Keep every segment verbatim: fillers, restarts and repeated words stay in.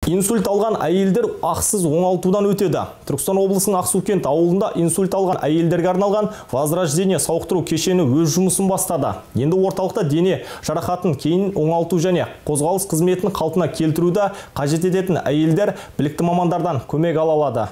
Инсульт алған әйелдер ақсыз оңалтудан өтеді. Түркістан облысының Ақсукент ауылында инсульт алған әйелдерге арналған Возрождение сауықтыру кешені өз жұмысын бастады. Енді орталықта дене жарақатын кейін оңалту және қозғалыс қызметін қалпына келтіруді қажет ететін әйелдер білікті мамандардан көмек ала алады.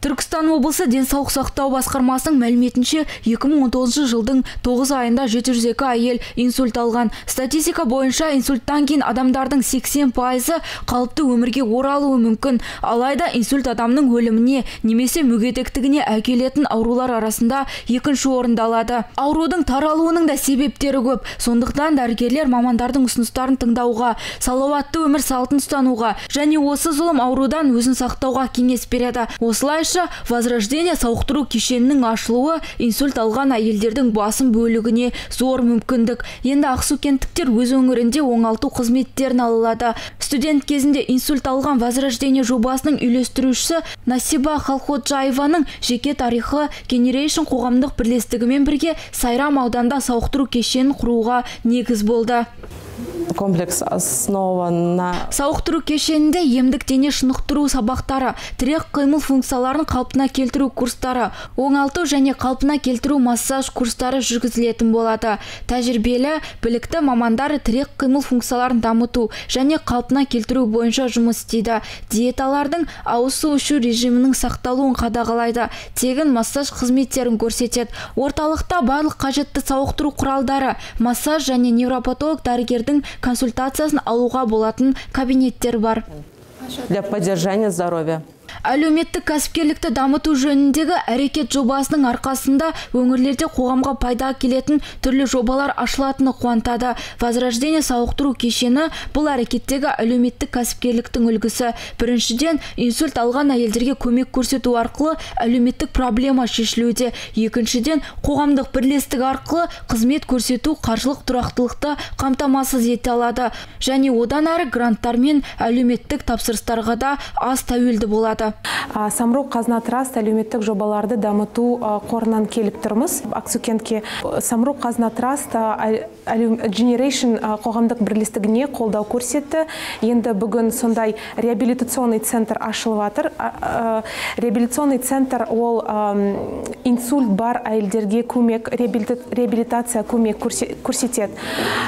Түркістан облысы денсаулық сақтау басқармасының мәліметінше екі мың он тоғызыншы жылдың тоғыз айында жеті жүз екі әйел инсульт алған. Статистика бойынша инсульттан кейін адамдардың сексен пайызы қалыпты өмірге оралуы мүмкін. Алайда инсульт адамның өліміне немесе мүгедектігіне әкелетін аурулар арасында екінші орында алады. Аурудың таралуының да себептері көп. Сондықтан дәрігерлер мамандардың ұсыныстарын тыңдауға, салауатты өмір салтын ұстануға және осы зұлым аурудан өзін сақтауға кеңес береді. Осылайша Возрождение сауықтыру кешенінің ашылуы инсульт алған әйелдердің басым бөлігіне зор мүмкіндік. Енді ақсукенттіктер өз өңірінде оңалту қызметтерін алады. Студент кезінде инсульт алған Возрождение жобасының үйлестірушісі Насиба Халходжаеваның жеке тарихы Generation қоғамдық бірлестігімен бірге Сайрам ауданда сауықтыру кешенін құруға негіз болды. Комплекс основан на... Сауықтыру кешенінде емдік дене шынықтыру сабақтары, тірек қимыл функцияларын қалпына келтіру курстары, оңалту және қалпына келтіру массаж курстары жүргізілетін болады. Тәжірибелі, білікті мамандар тірек қимыл функцияларын дамыту және қалпына келтіру бойынша жұмыс істейді. Диеталардың ауыз су ішу режимінің сақталуын қадағалайды. Тегін массаж қызметтерін көрсетеді. Орталықта барлық қажетті сауықтыру құралдары, массаж және невропатолог дәрігердің консультациясын алуға болатын кабинеттер бар. Для поддержания здоровья. Әлеуметтік кәсіпкерлікті дамыту жөніндегі әрекет жобасының арқасында өңірлерде қоғамға пайда келетін түрлі жобалар ашылатыны қуантады. Возрождение сауықтыру кешені бұл әрекеттегі әлеуметтік кәсіпкерліктің үлгісі. Біріншіден, инсульт алған әйелдерге көмек көрсету арқылы әлеуметтік проблема шешілуде. Екіншіден, қоғамдық бірлестік арқылы қызмет көрсету қаржылық тұрақтылықты қамтамасыз ете алады. Және одан әрі гранттар мен әлеуметтік тапсырыстарға да аз тәуелді болады. Самұрық Қазына Траст әлеуметтік жобаларды дамыту қорынан келіп тұрмыз. Ақсукентке Самұрық Қазына Траст Generation қоғамдық бірлестігіне қолдау көрсетті. Енді бүгін сондай реабилитационный центр ашылып жатыр. Реабилитационный центр ол инсульт бар әйелдерге көмек, реабилитация көмек көрсетеді.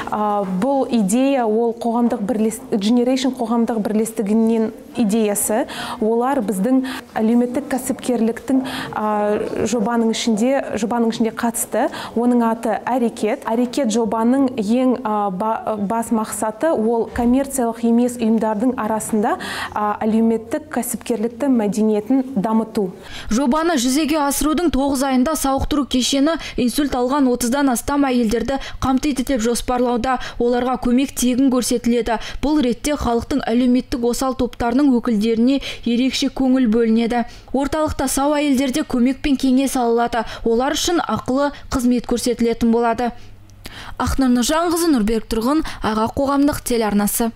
Бұл идея ол қоғамдық бірлестік, Generation қоғамдық бірлестігінен идеясы. Олар біздің әлеуметтік кәсіпкерліктің жобаның ішінде, жобаның ішінде қатысты. Оның аты әрекет. Әрекет жобаның ең бас мақсаты ол коммерциялық емес ұйымдардың арасында әлеуметтік кәсіпкерлікті мәдениетін дамыту. Жобаны жүзеге асырудың тоғыз айында сауықтыру кешені инсульт алған отыздан астам әйелдерді қамтиды деп жоспарлауда. Оларға көмек тегін көрсетіледі. Бұл ретте халықтың әлеуметтік осал топтарының өкілдеріне ерекше көңіл бөлінеді. Орталықта сау әйелдерде көмек пен кеңес алынады. Олар үшін ақылы қызмет көрсетілетін болады. Ақнұр Нұржанқызы, Нұрбек Тұрғын, Аға қоғамдық телеарнасы.